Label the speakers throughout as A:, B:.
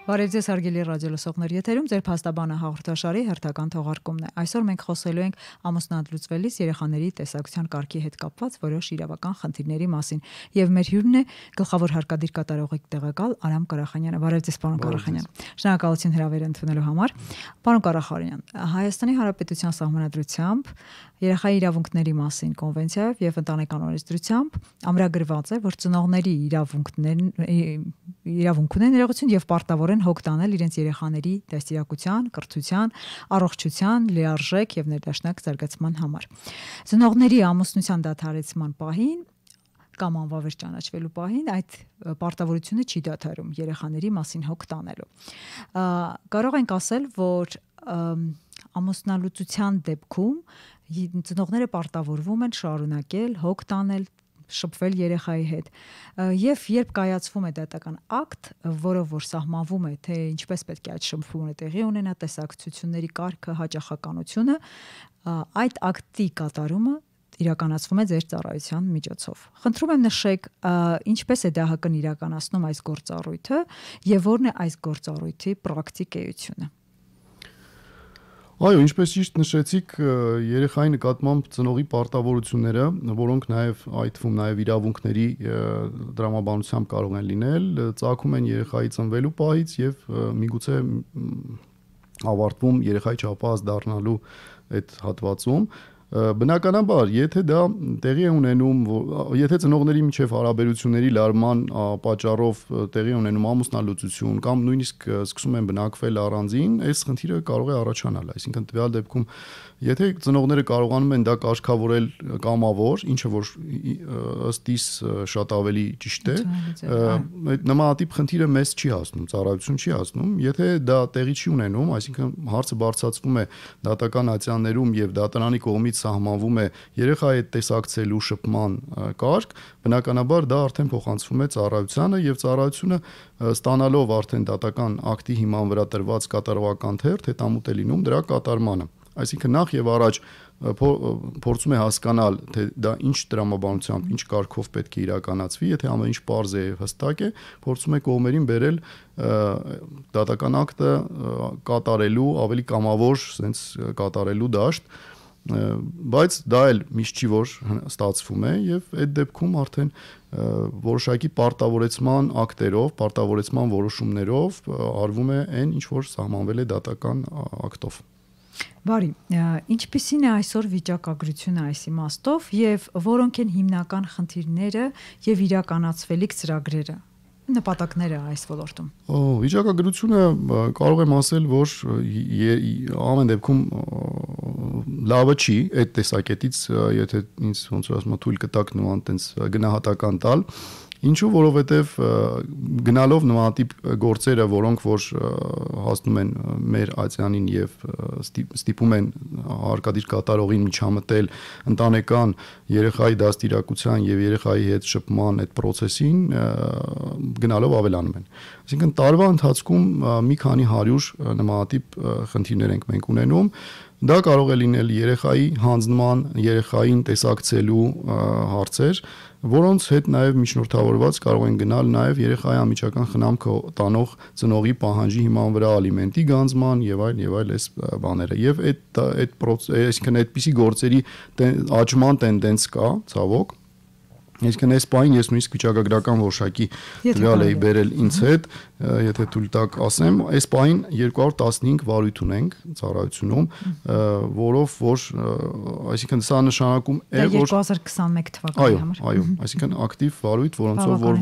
A: Բարև ձեզ հարգելի ռադիոլսողներ, եթերում ձեր փաստաբանը հաղորդաշարի հերթական թողարկումն է։ Այսօր մենք խոսելու ենք ամուսնալուծվելիս երեխաների տեսակցության կարգի հետ կապված որոշ իրավական խնդիրների մասին։ Եվ մեր հյուրն է գլխավոր հարկադիր կատարողի տեղակալ Արամ Կարախանյանը։ Բարև ձեզ, պարոն Կարախանյան։ Շնորհակալություն հրավերը ընդունելու համար։ Պարոն Կարախանյան, Հայաստանի Հանրապետության Սահմանադրությամբ Երեխայի իրավունքների մասին կոնվենցիայով եւ ընտանեկան օրենսդրությամբ ամրագրված է, որ ծնողների իրավունք ունեն ներողություն եւ պարտավոր են հոգ տանել իրենց երեխաների դաստիարակության, կրթության, առողջության, լիարժեք եւ ներդաշնակ զարգացման համար։ Ծնողների ամուսնության դադարեցման պահին կամ անվավեր ճանաչվելու պահին այդ պարտավորությունը չի դադարում երեխաների մասին հոգ տանելու։ Կարող ենք ասել, որ ամուսնալուծության դեպքում ծնողները պարտավորվում են շարունակել հոգ տանել, շփվել երեխայի հետ եւ երբ կայացվում է դատական ակտ, որով որ սահմանվում է թե ինչպես պետք է այդ շփումը տեղի ունենա, տեսակցությունների կարգը, հաճախականությունը, այդ ակտի կատարումը իրականացվում է ձեր ծառայության միջոցով։ Խնդրում եմ նշեք, ինչպես է ԴՀԿ-ն իրականացնում այս գործառույթը եւ որն է այս գործառույթի պրակտիկ էությունը։
B: Այո, ինչպես ճիշտ նշեցիք, երեխայի նկատմամբ ծնողի պարտավորությունները, որոնք նաև այդ թվում նաև իրավունքների դրամաբանությամբ կարող են լինել, ծագում են երեխայի ծնվելու պահից եւ միգուցե ավարտվում երեխայի չափահաս դառնալու այդ հատվածում։ Բնականաբար, եթե դա տեղի է ունենում, եթե ծնողների միջև հարաբերությունների լարման պատճառով տեղի է ունենում ամուսնալուծություն կամ նույնիսկ սկսում են բնակվել առանձին, այս խնդիրը կարող է առաջանալ, այսինքն տվյալ դեպքում եթե ծնողները կարողանում են դա կարգավորել կամավոր, ինչը որ ըստ իս շատ ավելի ճիշտ է, նմանատիպ խնդիրը մեզ չի հասնում, ծառայություն չի հասնում, եթե դա տեղի չի ունենում, այսինքն հարցը բարձրացվում է դատական ատյաններում եւ դատարանի կողմից սահմանվում է երեխայի հետ տեսակցելու շփման կարգ, բնականաբար դա արդեն փոխանցվում է ծառայությանը եւ ծառայությունը ստանալով արդեն դատական ակտի հիման վրա տրված կատարողական թերթ հետամուտ է լինում դրա կատարմանը։ Այսինքն նախ եւ առաջ փորձում է հասկանալ, թե դա ինչ դրամաբանությամբ, ինչ կարգով պետք է իրականացվի, եթե ամեն ինչ պարզ է եւ հստակ է, փորձում է կողմերին բերել դատական ակտը կատարելու ավելի կամավոր, sense կատարելու դաշտ, բայց դա էլ միշտ չի որ ստացվում է եւ այդ դեպքում արդեն որոշակի պարտավորեցման ակտերով, պարտավորեցման որոշումներով արվում է այն, ինչ որ սահմանվել է դատական ակտով։
A: Բարի, ինչպիսին է այսօր վիճակագրությունը այս իմաստով եւ որոնք են հիմնական խնդիրները եւ իրականացվելիք ծրագրերը, նպատակները այս ոլորտում։
B: Վիճակագրությունը կարող եմ ասել, որ ամեն դեպքում լավը չի այդ տեսակետից, եթե ինձ ոնց որ ասում թույլ կտակ նման տենց գնահատական տալ, ինչու որովհետև գնալով նմանատիպ գործերը, որոնք որ հասնում են մեր ատյանին եւ ստիպում են հարկադիր կատարողին միջամտել ընտանեկան երեխայի դաստիարակության եւ երեխայի հետ շփման այդ process-ին, գնալով ավելանում են։ Այսինքն տարվա ընթացքում մի քանի 100 նմանատիպ խնդիրներ ենք մենք ունենում։ Դա կարող է լինել երեխայի հանձնման, երեխային տեսակցելու հարցեր, որոնց հետ նաև միջնորդավորված կարող են գնալ նաև երեխայի անմիջական խնամքը տանող ծնողի պահանջի հիման վրա ալիմենտի գանձման եւ այլ այս բաները։ Եվ այսինքն այդպիսի գործերի աճման տենդենց կա, ցավոք։ Այսինքն այս պահին ես նույնիսկ վիճակագրական որոշակի տվյալ էի բերել ինձ հետ, եթե թույլ տաք ասեմ, այս պահին 215 վարույթ ունենք ծառայությունում, որով որ այսինքն սա նշանակում է որ
A: 2021 թվականի համար։
B: Այո, այսինքն ակտիվ վարույթ, որոնցով որ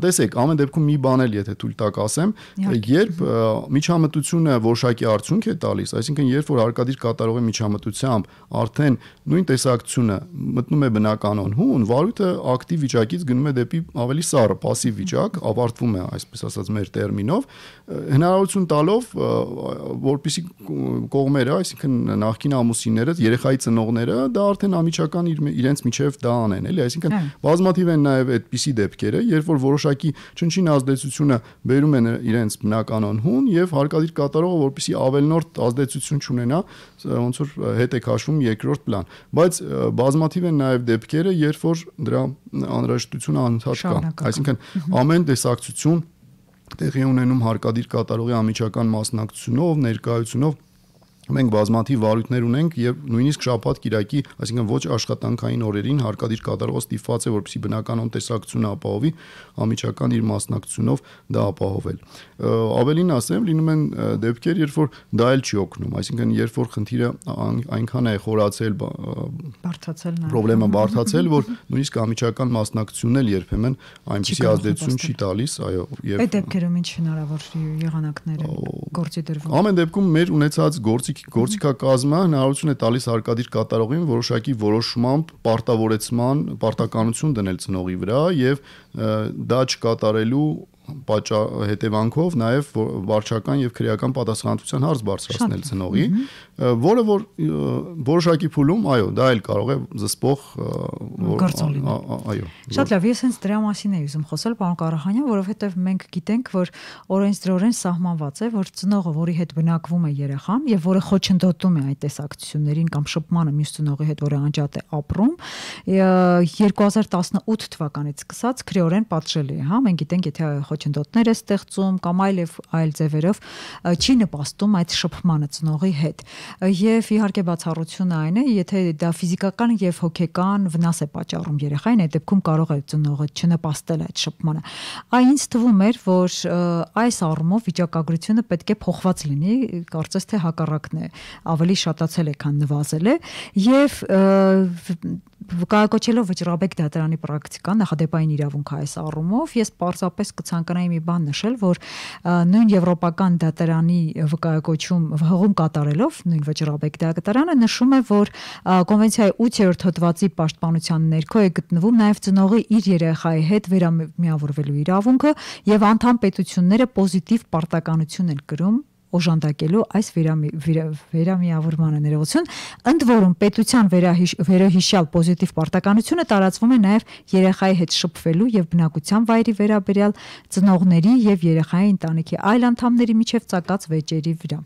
B: տեսեք, ամեն դեպքում մի բան էլ եթե թույլ տաք ասեմ, երբ միջամտությունը որոշակի արդյունք է տալիս, այսինքն երբ որ հարկադիր կատարողի միջամտությամբ արդեն նույն տեսակցությունը մտնում է բնականon հուն, վարույթը ակտիվ վիճակից գնում է դեպի ավելի սառը, пассив վիճակ, ավարտվում է, այսպես ասած մեր տերմինով, հնարավորություն տալով, որպեսզի կողմերը, այսինքն նախկին ամուսինները, երեխայի ծնողները, դա արդեն անմիջական իրենց միջև դա անեն, էլի, այսինքն բազմաթիվ են նաև այդպիսի դեպքերը, երբ որ որոշակի չնչին ազդեցությունը բերում են իրենց բնականon հուն եւ հարկադիր կատարողը, որպեսզի ավելնորդ ազդեցություն չունենա, ոնց որ հետ է քաշվում երկրորդ պլան, բայց բազմաթիվ են նաև դեպքերը, երբ որ դրա անհրաժեշտությունը անընդհատ կա, այսինքն ամեն տեսակցություն տեղի ունենում հարկադիր կատարողի անմիջական մասնակցությունով, ներկայությունով մենք բազմաթիվ վարույթներ ունենք եւ նույնիսկ շաբաթ-կիրակի, այսինքն ոչ աշխատանքային օրերին հարկադիր կատարողը ստիպված է որպեսզի բնականon տեսակցությունը ապահովի անմիջական իր մասնակցությունով դա ապահովել։ Ավելին ասեմ, լինում են դեպքեր, երբ որ դա էլ չի օգնում, այսինքն երբ որ խնդիրը այնքան է խորացել,
A: բարդացել,
B: խնդրեմը բարդացել, որ նույնիսկ անմիջական մասնակցությունն էլ երբեմն այնպիսի ազդեցություն չի տալիս, այո, եւ
A: այդ դեպքերում ինչ հնարավոր եղանակներ են գործի դրվում։
B: Ամեն դեպքում մեր ունեցած գործիքակազմը հնարավորություն է տալիս հարկադիր կատարողին որոշակի որոշմամբ պարտավորեցման դնել ծնողի վրա եւ դա չկատարելու հետևանքով նաև վարչական եւ քրեական պատասխանատվության հարց բարձրացնել ծնողի, որը որ որոշակի փուլում, այո, դա էլ կարող է զսպող այո։
A: Շատ լավ, ես հենց դրա մասին եմ ուզում խոսել, պարոն Կարախանյան, որովհետեւ մենք գիտենք, որ օրենսդրորեն սահմանված է, որ ծնողը, որի հետ բնակվում է երեխան եւ որը խոչընդոտում է այդ տեսակցություններին կամ շփմանը մյուս ծնողի հետ, որը անջատ է ապրում, 2018 թվականից սկսած քրեորեն պատժելի է, հա, մենք գիտենք, եթե խոչընդոտներ է ստեղծում կամ այլ ձևերով չի նպաստում այդ շփմանը ծնողի հետ։ Եվ իհարկե բացառությունը այն է, եթե դա ֆիզիկական եւ հոգեկան վնաս է պատճառում երեխային, այդ դեպքում կարող է ծնողը չնպաստել այդ շփմանը։ Ինձ թվում էր, որ այս առումով վիճակագրությունը պետք է փոխված լինի, կարծես թե հակառակն է, ավելի շատացել է, քան նվազել է, եւ վկայակոչելով վճռաբեկ դատարանի պրակտիկան, նախադեպային իրավունք այս առումով, ես պարզապես կցանկանայի մի բան նշել, որ նույն եվրոպական դատարանի վկայակոչում հղում կատարելով նույն վճռաբեկ դատարանը նշում է, որ կոնվենցիայի 8-րդ հոդվածի պաշտպանության ներքո է գտնվում նաև ծնողի իր երեխայի հետ վերամիավորվելու իրավունքը եւ անդամ պետությունները պոզիտիվ պարտականություն են կրում օժանդակելու այս վերամիավորմանը ներողություն, ընդ որում պետության վերահիշյալ պոզիտիվ պարտականությունը տարածվում է նաև երեխայի հետ շփվելու եւ բնակության վայրի վերաբերյալ ծնողների եւ երեխայի ընտանիքի այլ անդամների միջև ծագած վեճերի վրա։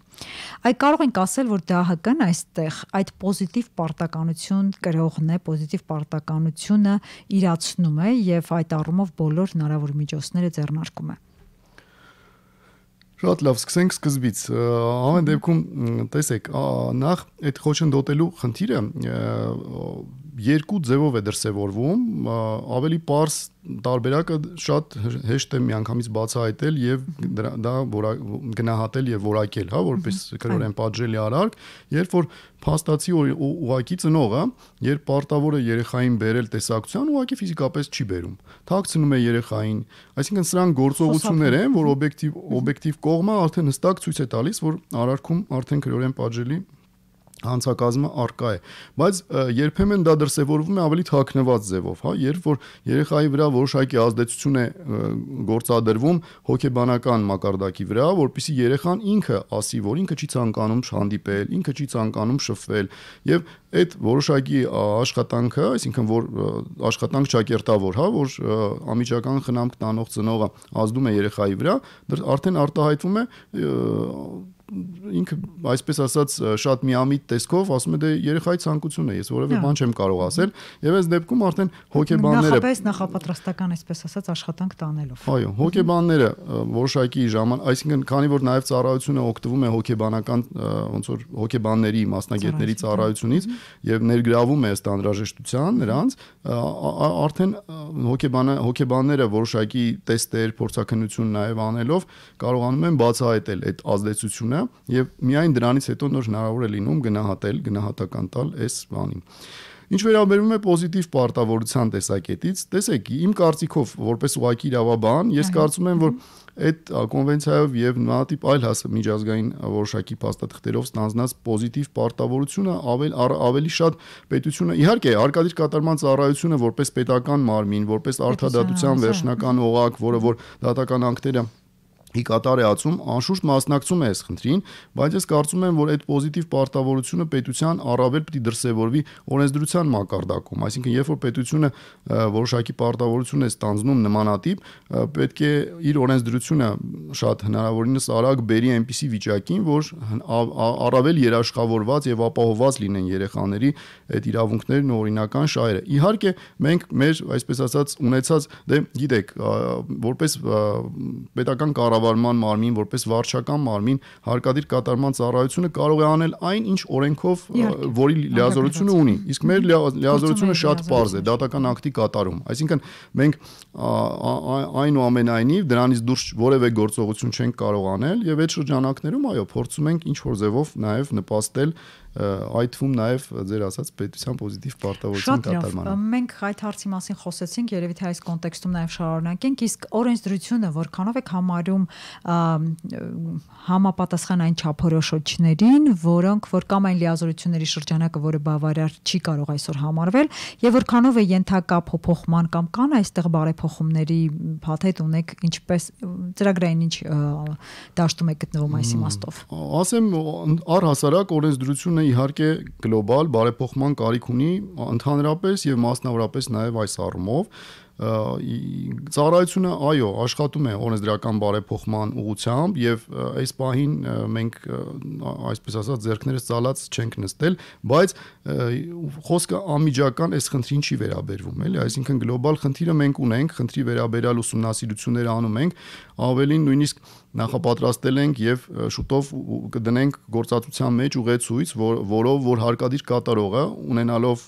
A: Այ կարող ենք ասել, որ ԴՀԿ-ն այստեղ այդ պոզիտիվ պարտականություն կրողն է, պոզիտիվ պարտականությունը իրացնում է եւ այդ առումով բոլոր հնարավոր միջոցները ձեռնարկում է։
B: Շատ լավ, սկսենք սկզբից։ Ամեն դեպքում, տեսեք, նախ այդ խոչընդոտելու խնդիրը երկու ձևով է դրսևորվում, ավելի պարզ տարբերակը շատ հեշտ է միանգամից բացահայտել եւ դա գնահատել եւ որակել, հա, որպես քրորեն պատժելի արարք, երբ որ փաստացի ուղակի ծնողը, երբ պարտավոր է երեխային բերել տեսակցության, ուղակի ֆիզիկապես չի բերում։ Թաքցնում է երեխային, այսինքն սրանք գործողություններ են, որ օբյեկտիվ կողմը արդեն հստակ ցույց է տալիս, որ արարքում արդեն քրորեն պատժելի հանցակազմը արկա է, բայց երբեմն դա դրսևորվում է ավելի թաքնված ձևով, հա, երբ որ երեխայի վրա որոշակի ազդեցություն է գործադրվում հոգեբանական մակարդակի վրա, որpիսի երեխան ինքը ասի, որ ինքը չի ցանկանում հանդիպել, ինքը չի ցանկանում շփվել, եւ այդ որոշակի աշխատանքը, այսինքն որ աշխատանք ճակերտավոր, հա, որ անմիջական խնամք տանող ծնողը ազդում է երեխայի վրա, արդեն արտահայտվում է ինքը այսպես ասած շատ միամիտ տեսքով ասում է դե երեխայի ցանկությունն է, ես որևէ բան չեմ կարող ասել, եւ այս դեպքում արդեն հոգեբանները
A: նախապես նախապատրաստական այսպես ասած աշխատանք տանելով։
B: Այո, հոգեբանները որոշակի այսինքն քանի որ նաեւ ծառայությունը օգտվում է հոգեբանական ոնց որ հոգեբանների մասնագետների ծառայությունից եւ ներգրավում է ըստ անհրաժեշտության նրանց, արդեն հոգեբանները որոշակի տեստեր, փորձաքննություն նաեւ անելով կարողանում են բացահայտել այդ ազդեցությունը եւ միայն դրանից հետո նոր հնարավոր է լինում գնահատական տալ այս բանին։ Ինչ վերաբերում է պոզիտիվ պարտավորության տեսակետից, տեսեք, իմ կարծիքով, որպես ուղղակի իրավաբան, ես կարծում եմ, որ այդ կոնվենցիայով եւ նմանատիպ այլ միջազգային որոշակի փաստաթղթերով ստանձնած պոզիտիվ պարտավորությունը ավելի շատ պետությունը, իհարկե, հարկադիր կատարման ծառայությունը որպես պետական մարմին, որպես արդարադատության վերջնական օղակ, որը որ դատական ակտերը ի կատար է ածում, անշուշտ մասնակցում է այս խնդրին, բայց ես կարծում եմ, որ այդ պոզիտիվ պարտավորությունը պետության առավել պետք է դրսևորվի օրենսդրության մակարդակում, այսինքն երբ որ պետությունը որոշակի պարտավորություն է ստանձնում նմանատիպ, պետք է իր օրենսդրությունը շատ հնարավորինս արագ բերի այնպիսի վիճակին, որ առավել երաշխավորված եւ ապահովված լինեն երեխաների այդ իրավունքներն ու օրինական շահերը։ Իհարկե, մենք մեր այսպես ասած ունեցած, դե գիտեք, որպես պետական կառավարման մարմին, որպես վարչական մարմին հարկադիր կատարման ծառայությունը կարող է անել այն, ինչ օրենքով որի լիազորությունը ունի։ Իսկ մեր լիազորությունը շատ պարզ է, դատական ակտի կատարում։ Այսինքն մենք այնուամենայնիվ դրանից դուրս որևէ գործողություն չենք կարող անել եւ այդ շրջանակներում այո փորձում ենք ինչ որ ձևով նաեւ նպաստել այդ թվում նաև ձեր ասած պետության պոզիտիվ պարտավորության կատարմանը։
A: Մենք այդ հարցի մասին խոսեցինք, երևի թե այս կոնտեքստում նաև շարունակենք, իսկ օրենսդրությունը որքանով եք համարում համապատասխան այն չափորոշիչներին, որոնք որ կամ այն լիազորությունների շրջանակը, որը բավարար չի կարող այսօր համարվել, եւ որքանով է ենթակա փոփոխման կամ կան այստեղ բարեփոխումների փաթեթ ունեք, ինչպես ծրագրային ինչ դաշտում եք գտնվում այս իմաստով։
B: Ասեմ առհասարակ օրենսդրությունը իհարկե գլոբալ բարեփոխման կարիք ունի ընդհանրապես եւ մասնավորապես նաեւ այս առումով ծառայությունը այո աշխատում է օրենսդրական բարեփոխման ուղղությամբ եւ այս պահին մենք այսպես ասած ձեռքներս ծալած չենք նստել, բայց խոսքը անմիջական այս խնդրին չի վերաբերվում, էլի, այսինքն գլոբալ խնդիրը մենք ունենք, խնդրի վերաբերյալ ուսումնասիրություններ անում ենք, ավելին նույնիսկ նախապատրաստել ենք եւ շուտով կդնենք գործածության մեջ ուղեցույց, որով որ հարկադիր կատարողը ունենալով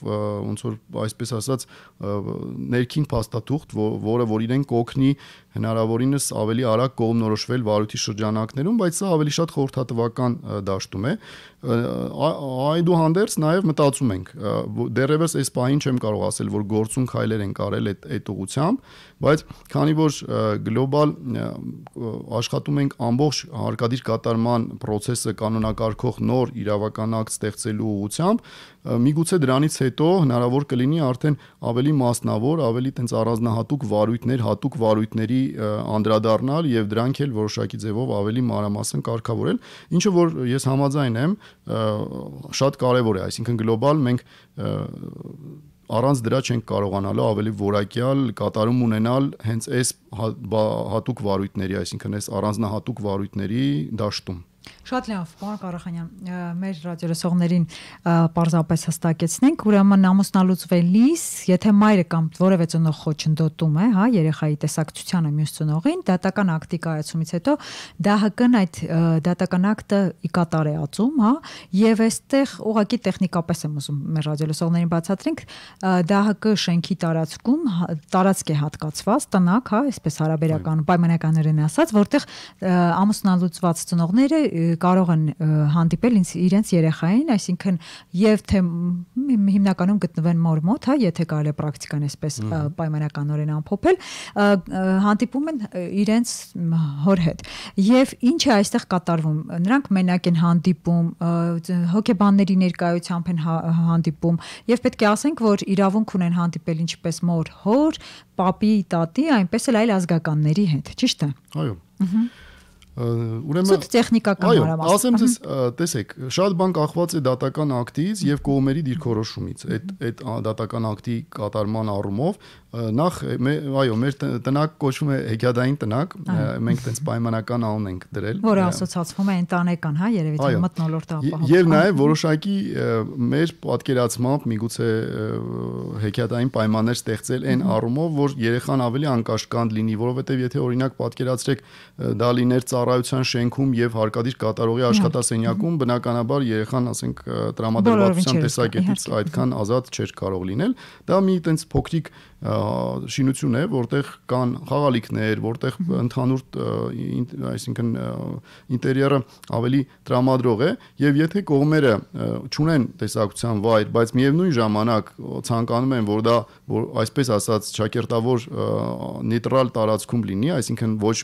B: ոնց որ այսպես ասած ներքին փաստաթուղթ, որը որ իրեն կօգնի հնարավորինս ավելի արագ կողմնորոշվել վարույթի շրջանակներում, բայց սա ավելի շատ խորհրդատվական դաշտում է։ Այդուհանդերձ նաև մտածում ենք, դեռևս այս պահին չեմ կարող ասել, որ գործուն քայլեր են կարել այդ ուղղությամբ, բայց քանի որ գլոբալ աշխատում ենք ամբողջ հարկադիր կատարման process-ը կանոնակարգող նոր իրավական ակտ ստեղծելու ուղղությամբ, միգուցե դրանից հետո հնարավոր կլինի արդեն ավելի մասնավոր, ավելի տենց առանձնահատուկ վարույթներ, հատուկ վարույթների անդրադառնալ եւ դրանք էլ որոշակի ձևով ավելի մանրամասն կարգավորել, ինչը որ ես համաձայն եմ, շատ կարեւոր է, այսինքն գլոբալ մենք առանց դրա չենք կարողանալու ավելի որակյալ կատարում ունենալ հենց այս հատուկ վարույթների, այսինքն այս առանձնահատուկ վարույթների դաշտում։
A: Շատ լավ, պարոն Ղարախանյան, մեր ռադիոլսողներին պարզապես հստակեցնենք, ուրեմն ամուսնալուծվելիս, եթե մայրը կամ որևէ ծնող խոչընդոտում է, հա, երեխայի տեսակցությանը մյուս ծնողին, դատական ակտի կայացումից հետո ԴՀԿ-ն այդ դատական ակտը ի կատար է ածում, հա, եւ այստեղ ուղղակի տեխնիկապես եմ ուզում մեր ռադիոլսողներին բացատրենք, ԴՀԿ շենքի տարածքում տարածք է հատկացված տնակ, հա, այսպես հարաբերական պայմանականորեն ասած, որտեղ ամուսնալուծված ծնողները կարող են հանդիպել իրենց երեխային, այսինքն եւ թե հիմնականում գտնվեն մոր մոտ, հա, եթե կարելի է պրակտիկան այսպես պայմանականորեն ամփոփել, հանդիպում են իրենց հոր հետ։ Եվ ինչ է այստեղ կատարվում։ Նրանք մենակ են հանդիպում, հոգեբանների ներկայությամբ են հանդիպում, եւ պետք է ասենք, որ իրավունք ունեն հանդիպել ինչպես մոր, հոր, պապի, տատի, այնպես էլ այլ ազգականների հետ, ճիշտ է։
B: Այո։
A: Ուրեմն սուտ տեխնիկական հարաբերական։
B: Այո, ասեմ ձեզ, տեսեք, շատ բան կախված է դատական ակտից եւ կողմերի դիրքորոշումից։ Այդ դատական ակտի կատարման առումով նախ այո, մեր տնակ կոչվում է հեքիաթային տնակ, մենք տենց պայմանական անուն ենք դրել,
A: որը ասոցացվում է ընտանեկան, հա, երևի թե մթնոլորտը ապահովում։
B: Եվ նաեւ որոշակի մեր պատկերացմամբ միգուցե հեքիաթային պայմաններ ստեղծել այն առումով, որ երեխան ավելի անկաշկանդ լինի, որովհետեւ եթե օրինակ պատկերացրեք դա լիներ ծառայության շենքում եւ հարկադիր կատարողի աշխատասենյակում, բնականաբար երեխան, ասենք, տրամադրվածության տեսակետից այդքան ազատ չէր կարող լինել։ Դա մի տենց փոքրիկ շինություն է, որտեղ կան խաղալիքներ, որտեղ ընդհանուր, այսինքն ինտերիերը ավելի տրամադրող է, եւ եթե կողմերը չունեն տեսակցության վայր, բայց միևնույն ժամանակ ցանկանում են, որ դա այսպես ասած ճակերտավոր նեյտրալ տարածքում լինի, այսինքն ոչ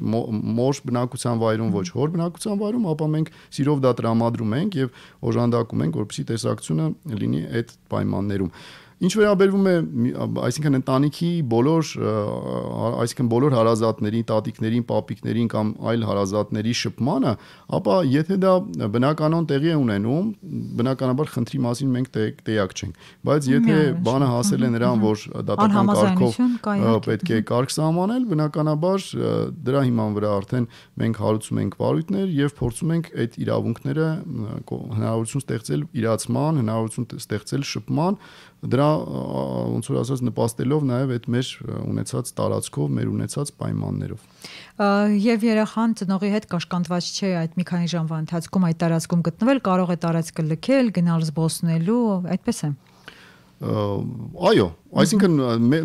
B: մոր բնակության վայրում, ոչ հոր բնակության վայրում, ապա մենք սիրով դա տրամադրում ենք եւ օժանդակում ենք, որպեսզի տեսակցությունը լինի այդ պայմաններում։ Ինչ վերաբերվում է, այսինքն ընտանիքի բոլոր հարազատներին, տատիկներին, պապիկներին կամ այլ հարազատների շփմանը, ապա եթե դա բնականon տեղի է ունենում, բնականաբար խնդրի մասին մենք տեղյակ չենք, բայց եթե բանը հասել է նրան, որ դատական կարգով պետք է կարգ սահմանել, բնականաբար դրա հիման վրա արդեն մենք հարուցում ենք վարույթներ եւ փորձում ենք այդ իրավունքները հնարավորություն ստեղծել իրացման, հնարավորություն ստեղծել շփման դրա ոնց որ ասած նպաստելով նաև այդ մեր ունեցած տարածքով, մեր ունեցած պայմաններով։
A: Եվ երեխան ծնողի հետ կաշկանդված չէ այդ մի քանի ժամվա ընթացքում այդ տարածքում գտնվել, կարող է տարածքը լքել, գնալ զբոսնելու, այդպես է։
B: Այո, այսինքն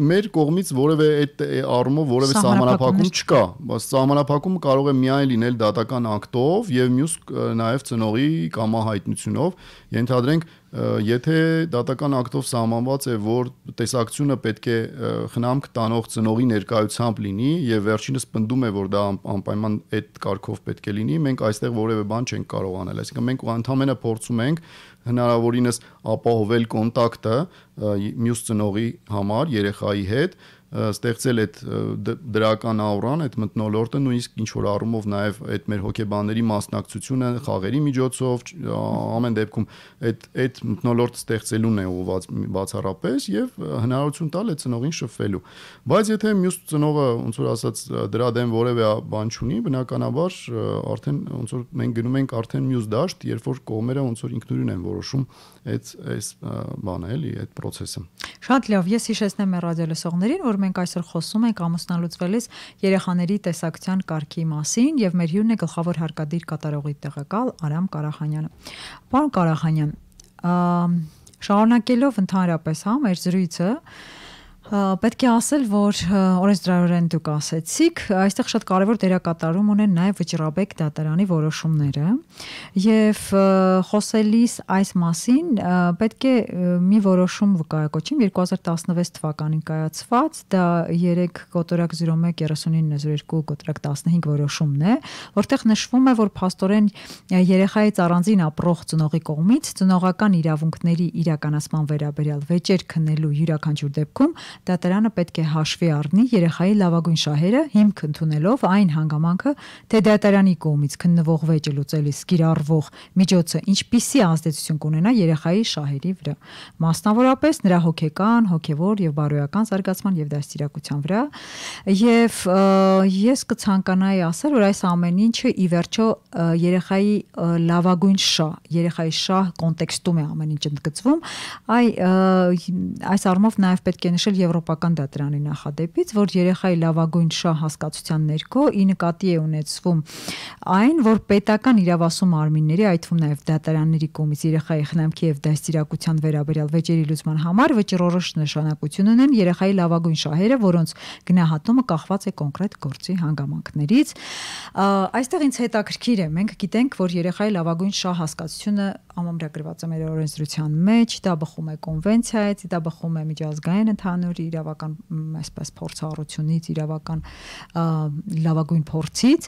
B: մեր կողմից որևէ այդ առումով որևէ սահմանափակում չկա, բայց սահմանափակումը կարող է միայն լինել դատական ակտով եւ մյուս նաեւ ծնողի կամահայտնությունով, ենթադրենք եթե դատական ակտով սահմանված է, որ տեսակցությունը պետք է խնամք տանող ծնողի ներկայությամբ լինի եւ վերջինս պնդում է, որ դա անպայման այդ կարգով պետք է լինի, մենք այստեղ որևէ բան չենք կարող անել, այսինքն մենք ընդհանրապես փորձում ենք հնարավորինս ապահովել կոնտակտը մյուս ծնողի համար երեխայի հետ, ստեղծել այդ դրական աուրան, այդ մթնոլորտը, նույնիսկ ինչ որ առումով նաև այդ մեր հոգեբանների մասնակցությունը խաղերի միջոցով, ամեն դեպքում այդ մթնոլորտը ստեղծելուն է ուղղված բացառապես եւ հնարավորություն տալ այդ ծնողին շփվելու։ Բայց եթե մյուս ծնողը ոնց որ ասած դրա դեմ որևէ բան չունի, բնականաբար արդեն ոնց որ մենք գնում ենք արդեն մյուս դաշտ, երբ որ կողմերը ոնց որ ինքնուրույն են որոշում այս բանը էլի, այդ process-ը։
A: Շատ լավ, ես հիշեցնեմ մեր ռադիոլսողներին, որ մենք այսօր խոսում ենք ամուսնալուծվելիս երեխաների տեսակցության կարգի մասին եւ մեր հյուրն է գլխավոր հարկադիր կատարողի տեղակալ Արամ Կարախանյանը։ Պարոն Կարախանյան, շարունակելով ընդհանրապես մեր զրույցը, պետք է ասել, որ օրենսդրորեն դուք ասեցիք, այստեղ շատ կարևոր դերակատարում ունեն նաև վճռաբեկ դատարանի որոշումները եւ խոսելիս այս մասին պետք է մի որոշում վկայակոչեմ 2016 թվականին կայացված, դա 3.013902/15 որոշումն է, որտեղ նշվում է, որ փաստորեն երեխայից առանձին ապրող ծնողի կողմից ծնողական իրավունքների իրականացման վերաբերյալ վեճեր քննելու յուրաքանչյուր դեպքում դատարանը պետք է հաշվի առնի երեխայի լավագույն շահերը, հիմք ընդունելով այն հանգամանքը, թե դատարանի կողմից քննվող վեճը լուծելիս կիրառվող միջոցը ինչպիսի ազդեցություն կունենա երեխայի շահերի վրա, մասնավորապես նրա հոգեկան, հոգևոր եւ բարոյական զարգացման եւ դաստիարակության վրա, եւ ես կցանկանայի ասել, որ այս ամեն ինչը ի վերջո երեխայի լավագույն շահ, երեխայի շահ կոնտեքստում է ամեն ինչ ընդգծվում, այս առումով նաեւ պետք է նշել Եվրոպական դատարանի նախադեպից, որ երեխայի լավագույն շահ հասկացության ներքո ի նկատի է ունեցվում այն, որ պետական իրավասու մարմինների, այդ թվում նաև դատարանների կողմից երեխայի խնամքի եւ դաստիարակության վերաբերյալ վեճերի լուծման համար վճռորոշ նշանակություն ունեն երեխայի լավագույն շահերը, որոնց գնահատումը կախված է կոնկրետ գործի հանգամանքներից։ Այստեղ ինձ հետաքրքիր է, մենք գիտենք, որ երեխայի լավագույն շահ հասկացությունը ամրագրված է մեր օրենսդրության մեջ, դա բխում է կոնվենցիայից, դա բխում է միջազգային ընդհանուր իրավական այսպես փորձառությունից, իրավական լավագույն փորձից,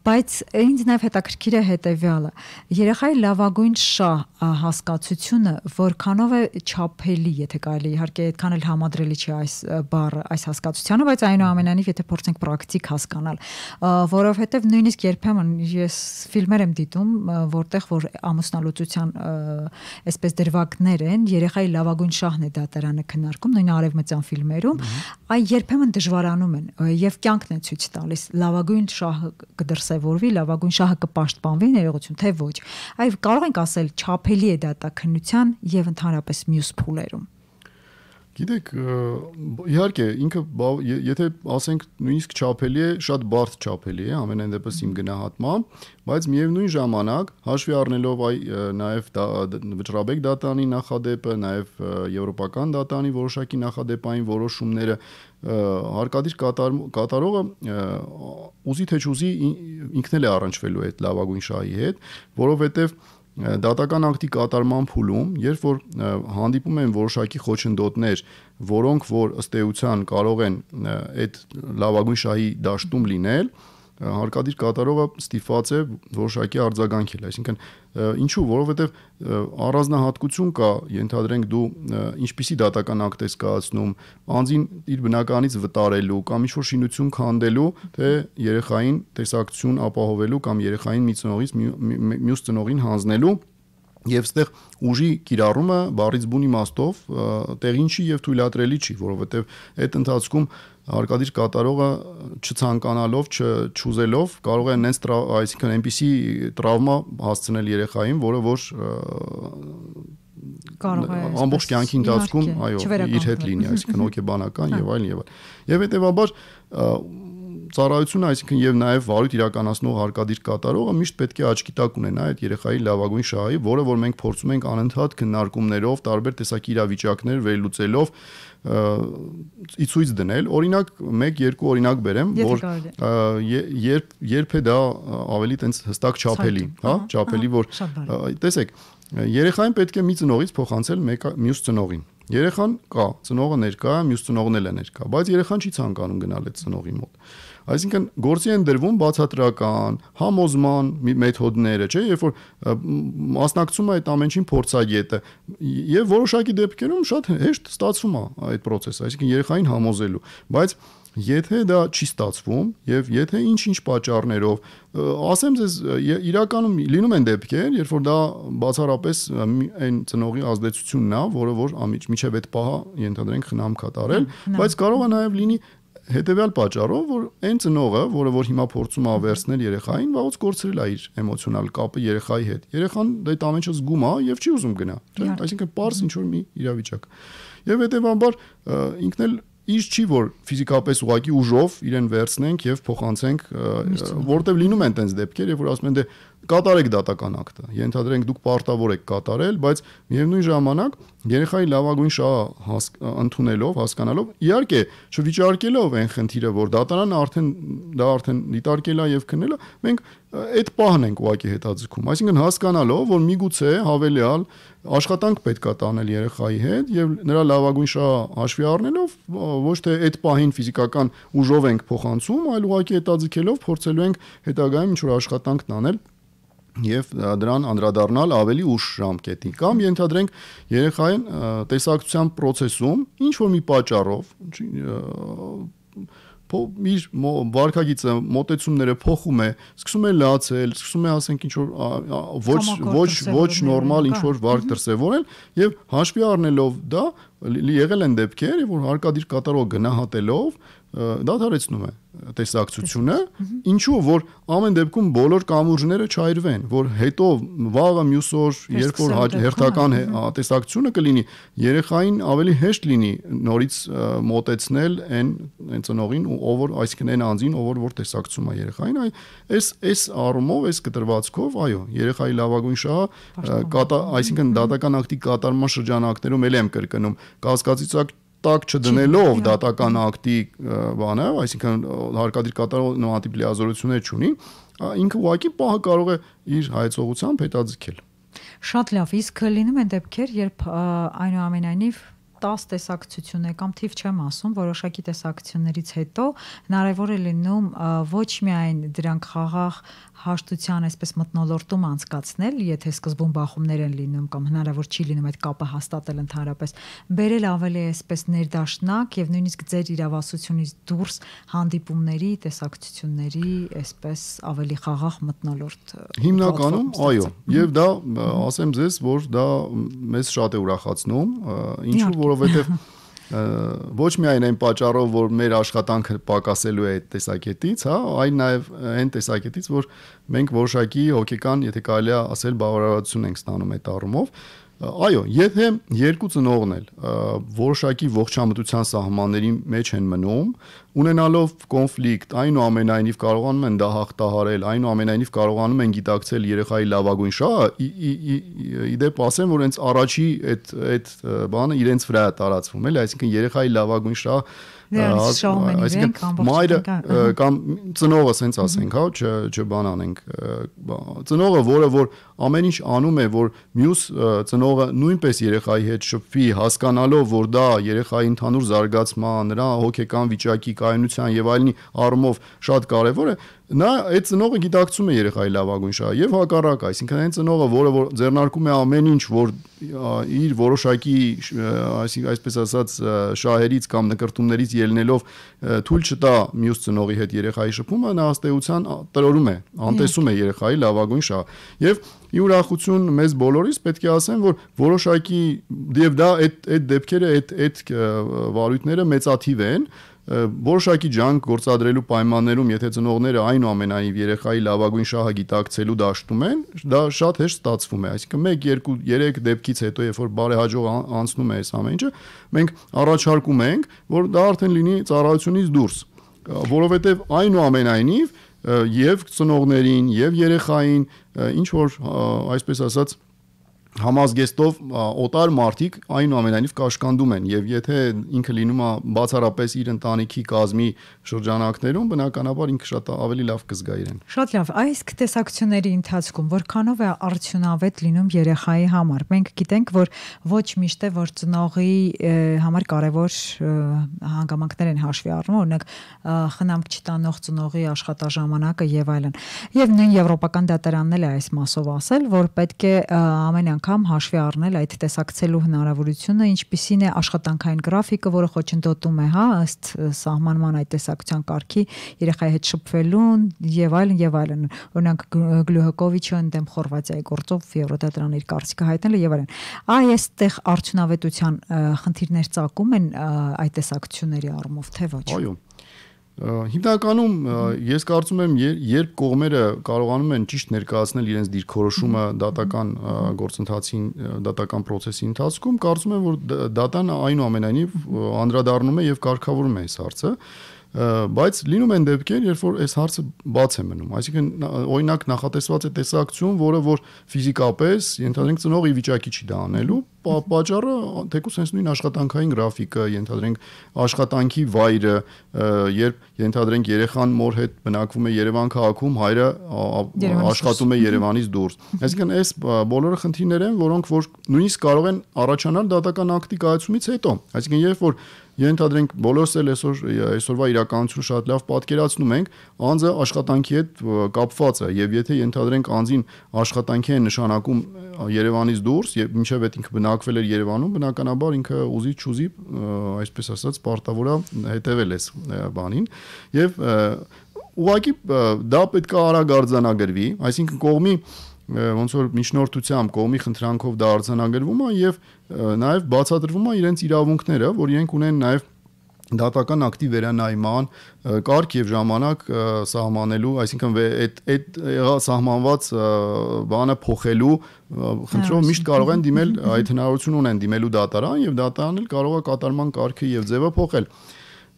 A: բայց ինձ նաև հետաքրքիր է հետևյալը. երեխայի լավագույն շահ հասկացությունը որքանով է չափելի, եթե կարելի, իհարկե այդքան էլ համադրելի չի այս բառը, այս հասկացությանը, բայց այնուամենայնիվ եթե փորձենք պրակտիկ հասկանալ, որովհետև նույնիսկ երբեմն ես ֆիլմեր եմ դիտում, որտեղ որ ամուսնալուծության այսպես դրվագներ են, երեխայի լավագույն շահն է դատարանը քննարկում, նույն արևմտյան ֆիլմերում, այ երբեմն դժվարանում են եւ կյանքն է ցույց տալիս լավագույն շահը կդրսևորվի, լավագույն շահը կպաշտպանվի, ներողություն, թե ոչ։ Այ կարող ենք ասել չափելի է դատաքննության եւ ընդհանրապես մյուս փուլերում։
B: Գիտեք, իհարկե ինքը եթե ասենք նույնիսկ չափելի է, շատ բարդ չափելի է, ամենայն դեպս իմ գնահատմամբ, բայց միևնույն ժամանակ հաշվի առնելով նաև վճռաբեկ դատարանի նախադեպը, նաև եվրոպական դատարանի որոշակի նախադեպային որոշումները, հարկադիր կատարողը ուզի թե չուզի ինքն էլ է առնչվելու այդ լավագույն շահի հետ, որովհետև դատական ակտի կատարման փուլում, երբ որ հանդիպում են որոշակի խոչընդոտներ, որոնք որ ըստ էության կարող են այդ լավագույն շահի դաշտում լինել, հարկադիր կատարողը ստիպված է որոշակի արձագանքել, այսինքն ինչու, որովհետև առանձնահատկություն կա, ենթադրենք դու ինչպիսի դատական ակտ ես կայացնում, անձին իր բնականից վտարելու կամ ինչ-որ շինություն քանդելու, թե երեխային տեսակցություն ապահովելու կամ երեխային մի ծնողից մյուս ծնողին հանձնելու եւ այստեղ ուժի կիրառումը բառից բուն իմաստով տեղին չի եւ թույլատրելի չի, որովհետեւ այդ ընթացքում հարկադիր կատարողը չցանկանալով, չուզելով կարող է այսինքն այնպիսի տրավմա հասցնել երեխային, որը որ ամբողջ կյանքի ընթացքում իր հետ լինի, այսինքն հոգեբանական եւ այլն եւ այլն։ Եվ հետեւաբար ծառայությունը, այսինքն եւ նաեւ վարույթ իրականացնող հարկադիր կատարողը միշտ պետք է աչքի տակ ունենա այդ երեխայի լավագույն շահի, որը որ մենք փորձում ենք անընդհատ քննարկումներով, տարբեր տեսակի իրավիճակներ վերլուծելով ցույց դնել։ Օրինակ 1-2 օրինակ բերեմ, որ երբ է դա ավելի տենց հստակ չափելի, հա, չափելի, որ տեսեք, երեխային պետք է մի ծնողից փոխանցել մյուս ծնողին։ Երեխան կա, ծնողը ներկա է, մյուս ծնողն էլ է ներկա, բայց երեխան չի ցանկանում գնալ այդ ծնողի մոտ։ Այսինքն գործի են դրվում բացատրական, համոզման մեթոդները, չէ, երբ որ մասնակցում է այդ ամենին փորձագետը, եւ որոշակի դեպքերում շատ հեշտ ստացվում է այդ process-ը, այսինքն երեխային համոզելու, բայց եթե դա չի ստացվում եւ եթե ինչ-ինչ պատճառներով, ասեմ ձեզ, իրականում լինում են դեպքեր, երբ որ դա բացառապես այն ծնողի ազդեցությունն է, որը որ միջև այդ պահը ենթադրենք խնամք է տարել, բայց կարող է նաեւ լինի հետեւյալ պատճառով, որ այն ծնողը, որը որ հիմա փորձում է վերցնել երեխային, վաղուց կորցրել է իր էմոցիոնալ կապը երեխայի հետ։ Երեխան այդ ամենը զգում է եւ չի ուզում գնա, չէ՞, այսինքն պարզ ինչ որ մի իրավիճակ։ Եվ հետեւաբար ինքն էլ իր չի որ ֆիզիկապես ուղակի ուժով իրեն վերցնենք եւ փոխանցենք, որտեւ լինում են տենց դեպքեր, երբ որ ասում են դե կատարեք դատական ակտը, ենթադրենք դուք պարտավոր եք կատարել, բայց միևնույն ժամանակ երեխայի լավագույն շահը ընդունելով, հասկանալով, իհարկե չվիճարկելով այն խնդիրը, որ դատարանը արդեն դիտարկել է եւ քննել է, մենք այդ պահն ենք ուղակի հետաձգում, այսինքն հասկանալով, որ միգուցե հավելյալ աշխատանք պետք է տանել երեխայի հետ եւ նրա լավագույն շահը հաշվի առնելով ոչ թե այդ պահին ֆիզիկական ուժով ենք փոխանցում, այլ ուղղակի հետաձգելով փորձելու ենք հետագայում ինչ-որ աշխատանք տանել եւ դրան անդրադառնալ ավելի ուշ ժամկետի կամ ենթադրենք երեխային տեսակցության process-ում ինչ որ մի պատճառով իր վարքագիծը մոտեցումները փոխում է, սկսում է լացել, սկսում է ասենք ինչ որ ոչ նորմալ ինչ որ վարք դրսևորել եւ հաշվի առնելով դա եղել են դեպքեր, որ հարկադիր կատարող գնահատելով դադարեցնում է տեսակցությունը, ինչու որ ամեն դեպքում բոլոր կամուրջները չայրվեն, որ հետո վաղը մյուս օր երբ որ հերթական տեսակցությունը կլինի, երեխային ավելի հեշտ լինի նորից մոտեցնել այն ծնողին, ով որ այսինքն այն անձին, ով որ տեսակցում է երեխային, այս առումով, այս կտրվածքով, այո, երեխայի լավագույն շահը, այսինքն դատական ակտի կատարման շրջանակներում էլ եմ կրկնում, կասկածիցակ տակ չդնելով դատական ակտի բանը, այսինքն հարկադիր կատարող նմանատիպ լիազորություններ չունի, ինքը ուղղակի պահը կարող է իր հայեցողությամբ հետաձգել։
A: Շատ լավ, իսկ լինում են դեպքեր, երբ այնուամենայնիվ 10 տեսակցություն է կամ թիվ չեմ ասում, որոշակի տեսակցություններից հետո հնարավոր է լինում ոչ միայն դրանք խաղաղ հաշտության այսպես մթնոլորտում անցկացնել, եթե սկզբում բախումներ են լինում կամ հնարավոր չի լինում այդ կապը հաստատել ընդհանրապես, բերել ավելի այսպես ներդաշնակ եւ նույնիսկ ձեր իրավասությունից դուրս հանդիպումների, տեսակցությունների այսպես ավելի խաղաղ մթնոլորտ։
B: Հիմնականում, այո, եւ դա ասեմ ձեզ, որ դա մեզ շատ է ուրախացնում, ինչու որովհետեւ ոչ միայն այն պատճառով, որ մեր աշխատանքը պակասելու է այդ տեսակետից, հա, այլ նաև այն տեսակետից, որ մենք որոշակի հոգեկան, եթե կարելի է ասել, բավարարություն ենք ստանում այդ առումով։ Այո, եթե երկու ծնողն էլ որոշակի ողջամտության սահմանների մեջ են մնում, ունենալով կոնֆլիկտ, այնուամենայնիվ կարողանում են դա հաղթահարել, այնուամենայնիվ կարողանում են գիտակցել երեխայի լավագույն շահը, իդեպ ասեմ, որ հենց առաջի այդ բանը իրենց վրա է տարածվում, էլի, այսինքն երեխայի լավագույն շահը մայրը կամ ծնողը սենց ասենք, հա, չբան անենք, ծնողը, որը որ ամեն ինչ անում է, որ մյուս ծնողը նույնպես երեխայի հետ շփվի, հասկանալով, որ դա երեխայի ընդհանուր զարգացման, նրա հոգեկան վիճակի, կայունության եւ այլնի առումով շատ կարեւոր է, նա այդ ծնողը գիտակցում է երեխայի լավագույն շահը եւ հակառակ, այսինքն այն ծնողը, որը որ ձեռնարկում է ամեն ինչ, որ իր որոշակի, այսպես ասած, շահերից կամ նկրտումներից ելնելով թույլ չտա մյուս ծնողի հետ երեխայի շփումը, նա ըստ էության տրորում է, անտեսում է երեխայի լավագույն շահը։ Եվ ի ուրախություն մեզ բոլորիս պետք է ասեմ, որ որոշակի եւ դա այդ դեպքերը, այդ վարույթները մեծաթիվ են, որոշակի ջանք գործադրելու պայմաններում, եթե ծնողները այնուամենայնիվ երեխայի լավագույն շահը գիտակցելու դաշտում են, դա շատ հեշտ ստացվում է, այսինքն 1, 2, 3 դեպքից հետո, երբ որ բարեհաջող անցնում է այս ամեն ինչը, մենք առաջարկում ենք, որ դա արդեն լինի ծառայությունից դուրս, որովհետև այնուամենայնիվ եւ ծնողներին եւ երեխային ինչ որ այսպես ասած համազգեստով օտար մարդիկ այնուամենայնիվ կաշկանդում են եւ եթե ինքը լինում է բացառապես իր ընտանիքի կազմի շրջանակներում բնականաբար ինքը շատ ավելի լավ կզգա իրեն։
A: Շատ լավ, այս տեսակցությունների ընթացքում որքանով է արդյունավետ լինում երեխայի համար։ Մենք գիտենք, որ ոչ միշտ է որ ծնողի համար կարևոր հանգամանքներ են հաշվի առնում, օրինակ խնամք չտանող ծնողի աշխատաժամանակը եւ այլն։ Եվ նույն եվրոպական դատարանն էլ է այս մասով ասել, որ պետք է ամեն անգամ հաշվի առնել այդ տեսակցելու հնարավորությունը, ինչպիսին է աշխատանքային գրաֆիկը, որը խոչընդոտում է, հա, ըստ սահմանման այդ տեսակցության կարգի երեխայի հետ շփվելուն եւ այլն։ Օրինակ Գլուհակովիչը ընդդեմ Խորվաթիայի գործով Եվրոդատարան իր կարծիքը հայտնել է եւ այլն։ Այստեղ արդյունավետության խնդիրներ ծագում են այդ տեսակցությունների առումով, թե ոչ։
B: Այո։ Հիմնականում ես կարծում եմ, երբ կողմերը կարողանում են ճիշտ ներկայացնել իրենց դիրքորոշումը դատական գործընթացին, դատական process-ի ընթացքում, կարծում եմ, որ դատան այնուամենայնիվ անդրադառնում է եւ կարգավորում է այս հարցը, բայց լինում են դեպքեր, երբ որ այս հարցը բաց է մնում, այսինքն օրինակ նախատեսված է տեսակցություն, որը որ ֆիզիկապես ենթադրենք ծնողի վիճակի չի դա անելու, պատճառը թեկուզ հենց նույն աշխատանքային գրաֆիկը, ենթադրենք աշխատանքի վայրը, երբ ենթադրենք երեխան մոր հետ բնակվում է Երևան քաղաքում, հայրը աշխատում է Երևանից դուրս։ Այսինքն այս բոլորը խնդիրներ են, որոնք որ նույնիսկ կարող են առաջանալ դատական ակտի կայացումից հետո։ Այսինքն երբ որ ենթադրենք բոլորս էլ այսօրվա իրականությունը շատ լավ պատկերացնում ենք, անձը աշխատանքի հետ կապված է եւ եթե ենթադրենք անձին աշխատանքի են նշանակում Երևանից դուրս եւ մինչեւ այդ ինքը բնակվել էր Երևանում, բնականաբար ինքը ուզի չուզի, այսպես ասած, պարտավոր է հետեւել այս բանին եւ ուղղակի դա պետք է արագ արձանագրվի, այսինքն կողմի ոնց որ միջնորդությամբ կողմի խնդրանքով դա արձանագրվում է եւ նաեւ բացատրվում է իրենց իրավունքները, որ իրենք ունեն նաեւ դատական ակտի վերանայման կարգ եւ ժամանակ սահմանելու, այսինքն այդ սահմանված բանը փոխելու խնդրով միշտ կարող են դիմել, այդ հնարավորություն ունեն դիմելու դատարան եւ դատարանն էլ կարող է կատարման կարգը եւ ձևը փոխել։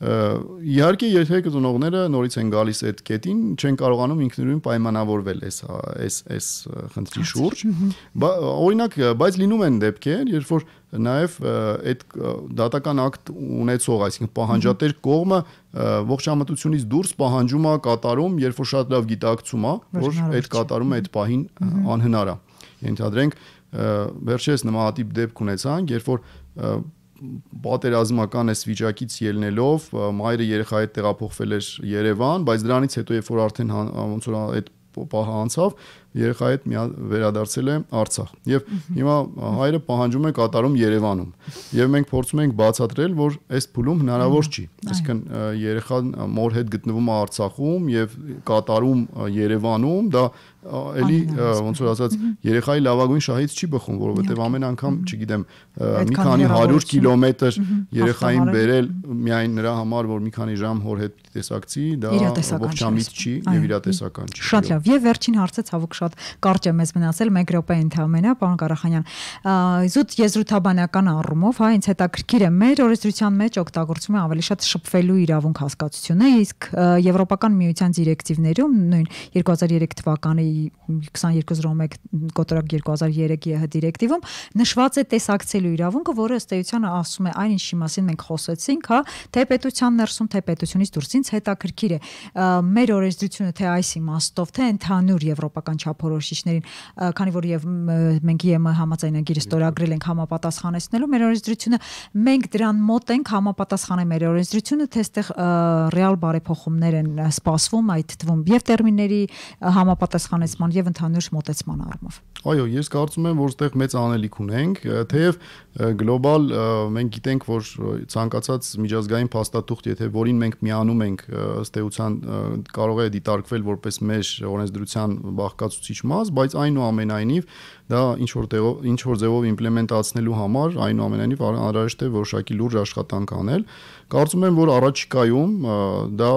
B: Իհարկե եթե ծնողները նորից են գալիս այդ կետին, չեն կարողանում ինքնուրույն պայմանավորվել այս խնդրի շուրջ, օրինակ, բայց լինում են դեպքեր, երբ որ նաև այդ դատական ակտ ունեցող, այսինքն պահանջատեր կողմը ողջամտությունից դուրս պահանջում է կատարում, երբ որ շատ լավ գիտակցում է, որ այդ կատարումը այդ պահին անհնար է։ Ենթադրենք վերջերս նմանատիպ դեպք ունեցանք, երբ որ պատերազմական այս վիճակից ելնելով մայրը երեխայի հետ տեղափոխվել էր Երևան, բայց դրանից հետո երբ որ արդեն ոնց որ այդ պահը անցավ, երեխայի հետ վերադարձել է Արցախ։ Եվ հիմա հայրը պահանջում է կատարում Երևանում։ Եվ մենք փորձում ենք բացատրել, որ այս փուլում հնարավոր չի։ Այսինքն երեխան մոր հետ գտնվում է Արցախում եւ կատարում Երևանում, դա էլի ոնց որ ասած երեխայի լավագույն շահից չի բխում, որովհետեւ ամեն անգամ, չգիտեմ, մի քանի 100 կիլոմետր երեխային բերել միայն նրա համար, որ մի քանի ժամ հոր հետ տեսակցի, դա ողջամիտ չի եւ իրատեսական չի։
A: Շատ լավ։ Եվ վերջին հարցը ցավոք շատ կարճ է մեզ մնացել 1 րոպե ընդհանրապես, պարոն Ղարախանյան։ Զուտ եզրութաբանական առումով, հա, ինձ հետաքրքիր է մեր օրենսդրության մեջ օգտագործվում է ավելի շատ շփվելու իրավունք հասկացությունը, իսկ Եվրոպական միության դիրեկտիվներում նույն 2003 թվականի 2201 կոտրակ 2003 ԵՀ դիրեկտիվում նշված է տեսակցելու իրավունքը, որը ըստ էության ասում է այն ինչի մասին մենք խոսեցինք, հա, թե պետության ներսում, թե պետությունից դուրս։ Ինձ հետաքրքիր է մեր օրենսդրությունը թե այս իմաստով, թե ընդհանուր եվրոպական չափորոշիչներին, քանի որ եւ մենք ԵՄ համաձայնագիրը ստորագրել ենք համապատասխանեցնելու մեր օրենսդրությունը, մենք դրան մոտ ենք համապատասխանել մեր օրենսդրությունը, թե այստեղ ռեալ բարեփոխումներ են սպասվում այդ թվում եւ տերմինների համապատասխանեցման եւ ընդհանուր մոտեցման առումով։
B: Այո, ես կարծում եմ, որ այստեղ մեծ անելիք ունենք, թեև գլոբալ մենք գիտենք, որ ցանկացած միջազգային փաստաթուղթ, եթե որին մենք միանում ենք, ըստ էության կարող է դիտարկվել որպես մեր օրենսդրության բաղկացուցիչ մաս, բայց այնուամենայնիվ դա ինչ որ ձևով իմպլեմենտացնելու համար այնուամենայնիվ անհրաժեշտ է որոշակի լուրջ աշխատանք անել։ Կարծում եմ, որ առաջիկայում դա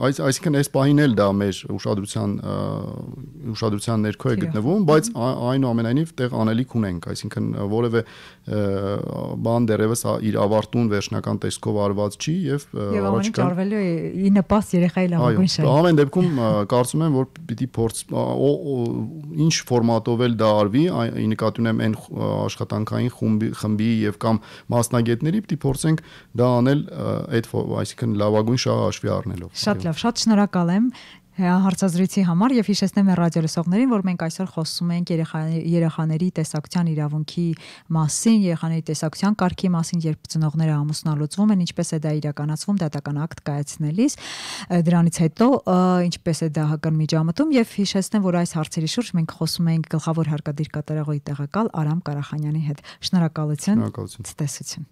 B: այսինքն այս պահին էլ դա մեր ուշադրության ներքո է գտնվում, բայց այնուամենայնիվ տեղ անելիք ունենք, այսինքն որևէ բան դեռևս իր ավարտուն վերջնական տեսքով արված չի եւ
A: առաջիկա արվելու է ի նպաստ երեխայի լավագույն շահի։
B: Ամեն դեպքում կարծում եմ, որ պիտի ինչ ֆորմատով էլ դա արվի, ի նկատի ունեմ այն աշխատանքային խմբի եւ կամ մասնագետների պիտի փորձենք դա անել այսինքն լավագույն շահը հաշվի առնելով։
A: Շատ լավ, շատ շնորհակալ եմ հարցազրույցի համար եւ հիշեցնեմ ռադիոլսողներին, որ մենք այսօր խոսում ենք երեխաների տեսակցության իրավունքի մասին, երեխաների տեսակցության կարգի մասին, երբ ծնողները ամուսնալուծվում են, ինչպես է դա իրականացվում դատական ակտ կայացնելիս, դրանից հետո ինչպես է դա հակամիջամտում եւ հիշեցնեմ, որ այս հարցերի շուրջ մենք խոսում ենք գլխավոր հարկադիր կատարողի տեղակալ Արամ Կարախանյանի հետ։ Շնորհակալություն։
B: Շնորհակալություն։
A: Ցտեսություն։